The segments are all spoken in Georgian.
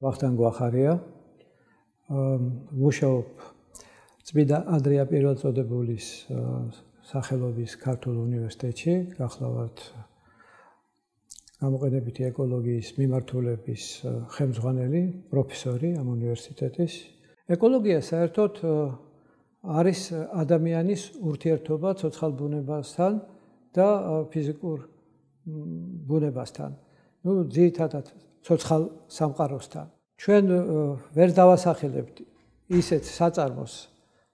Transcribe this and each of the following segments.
ვახტანგ გვახარია, მუშაობ წმინდა ანდრია პირველწოდებულის სახელობის ქართულ უნივერსიტეტში, გახლავართ გამოყენებითი ეკოლოგიის მიმართულების ხელმძღვანელი, პროფესორი ამ უნივერსიტეტის. ეკოლოგია საერთოდ არის ადამიანის ურთიერთობა ცოცხალ ბუნებასთან და ფიზიკურ ბუნებასთან. ძირითადად ცოცხალ სამყაროსთან. ჩვენ ვერ დავასახელებთ ისეთ საწარმოს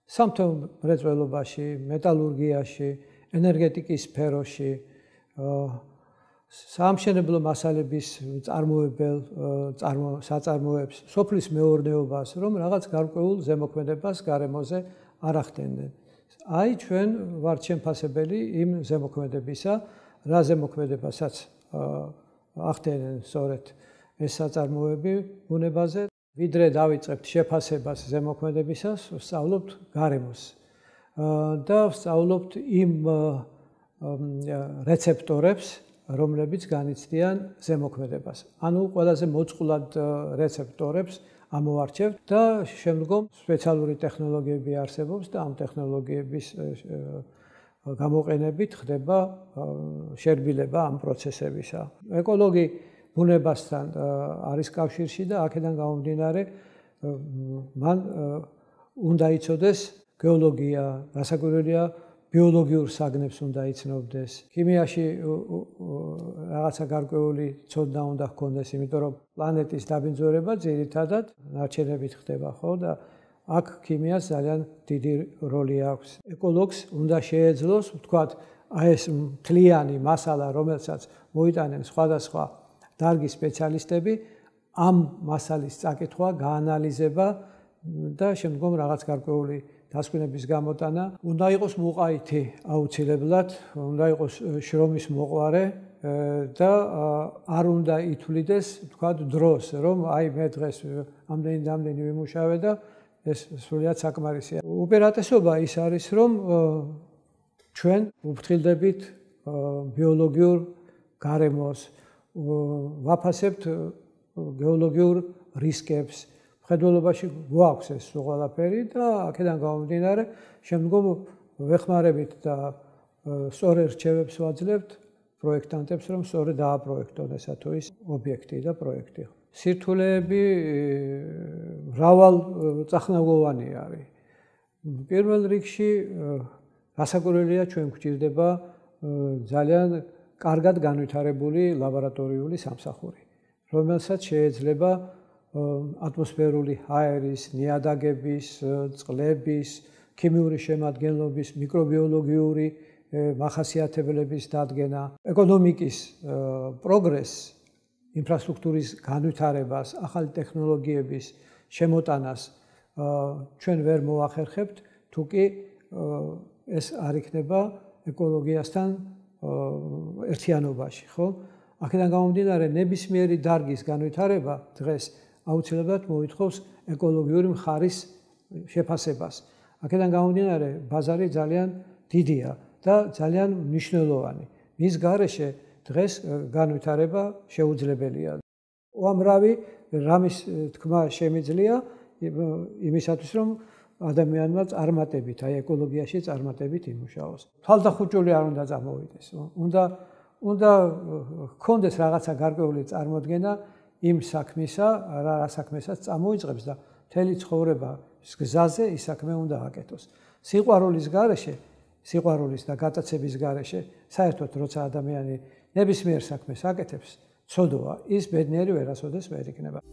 სამთო მრეწველობაში, მეტალურგიაში, ენერგეტიკის სფეროში, საამშენებლო მასალების საწარმოებს, სოფლის მეურნეობას, რომ რაღაც გარკვეულ ზემოქმედებას გარემოზე არ ახდენდნენ. აი ჩვენ ვართ შემფასებელი იმ ზემოქმედებისა, რა ზემოქმედებასაც ახდენენ სწორედ ეს საწარმოები ბუნებაზე. ვიდრე დავიწყებთ შეფასებას ზემოქმედებისას, ვსწავლობთ გარემოს და ვსწავლობთ იმ რეცეპტორებს, რომლებიც განიცდიან ზემოქმედებას. ანუ ყველაზე მოწყვლად რეცეპტორებს ამოვარჩევთ და შემდგომ სპეციალური ტექნოლოგიები არსებობს და ამ ტექნოლოგიების გამოყენებით ხდება შერბილება ამ პროცესებისა. ეკოლოგი ბუნებასთან არის კავშირში და აქედან გამომდინარე მან უნდა იცოდეს გეოლოგია, გასაკვირველია ბიოლოგიურ საგნებს უნდა იცნობდეს. ქიმიაში რაღაცა გარკვეული ცოდნა უნდა ჰქონდეს, იმიტომ რომ პლანეტის დაბინძურება ძირითადად ნარჩენებით ხდება, ხო და აქ ქიმიას ძალიან დიდი როლი აქვს. ეკოლოგს უნდა შეეძლოს, ვთქვათ, აი ეს მთლიანი მასალა, რომელსაც მოიტანენ სხვადასხვა დარგის სპეციალისტები, ამ მასალის წაკითხვა, გაანალიზება და შემდგომ რაღაც გარკვეული დასკვნების გამოტანა. უნდა იყოს მოყაითი აუცილებლად, უნდა იყოს შრომის მოყვარე და არ უნდა ითვლიდეს, ვთქვათ, დროს, რომ აი მე დღეს ამდენი ვიმუშავე და ეს სრულიად საკმარისია. უპირატესობა ის არის, რომ ჩვენ ვუფრთხილდებით ბიოლოგიურ გარემოს, ვაფასებთ გეოლოგიურ რისკებს. მხედველობაში გვაქვს ეს ყველაფერი და აქედან გამომდინარე შემდგომ ვეხმარებით და სწორ რჩევებს ვაძლევთ პროექტანტებს, რომ სწორედ დააპროექტონ ესა თუ ის ობიექტი და პროექტი. სირთულეები მრავალწახნაგოვანი არის. პირველ რიგში გასაკვირველია ჩვენ გვჭირდება ძალიან კარგად განვითარებული ლაბორატორიული სამსახური, რომელსაც შეიძლება ატმოსფერული ჰაერის, ნიადაგების, წყლების, ქიმიური შემადგენლობის, მიკრობიოლოგიური მახასიათებლების დადგენა, ეკონომიკის პროგრესს, ინფრასტრუქტურის განვითარებას, ახალი ტექნოლოგიების შემოტანას ჩვენ ვერ მოახერხებთ, თუ კი ეს არ იქნება ეკოლოგიასთან ერთიანობაში, ხო? აქედან გამომდინარე ნებისმიერი დარგის განვითარება დღეს აუცილებლად მოითხოვს ეკოლოგიური მხარის შეფასებას. აქედან გამომდინარე ბაზარი ძალიან დიდია და ძალიან მნიშვნელოვანი. მის გარეშე დღეს განვითარება შეუძლებელია. უამრავი რამის თქმა შემიძლია იმისათვის, რომ ადამიანმა წარმატებით, აი ეკოლოგიაში წარმატებით იმუშაოს. თვალდახუჭული არ უნდა წამოვიდეს. უნდა ჰქონდეს რაღაცა გარკვეული წარმოდგენა იმ საქმისა, რა საქმესაც წამოიწყებს და მთელი ცხოვრება გზაზე ის საქმე უნდა აკეთოს. სიყვარულის გარეშე, სიყვარულის და გატაცების გარეშე, საერთოდ როცა ადამიანი ნებისმიერ საქმეს აკეთებს, ცოდოა, ის ბედნიერი ვერასოდეს ვერ იქნება.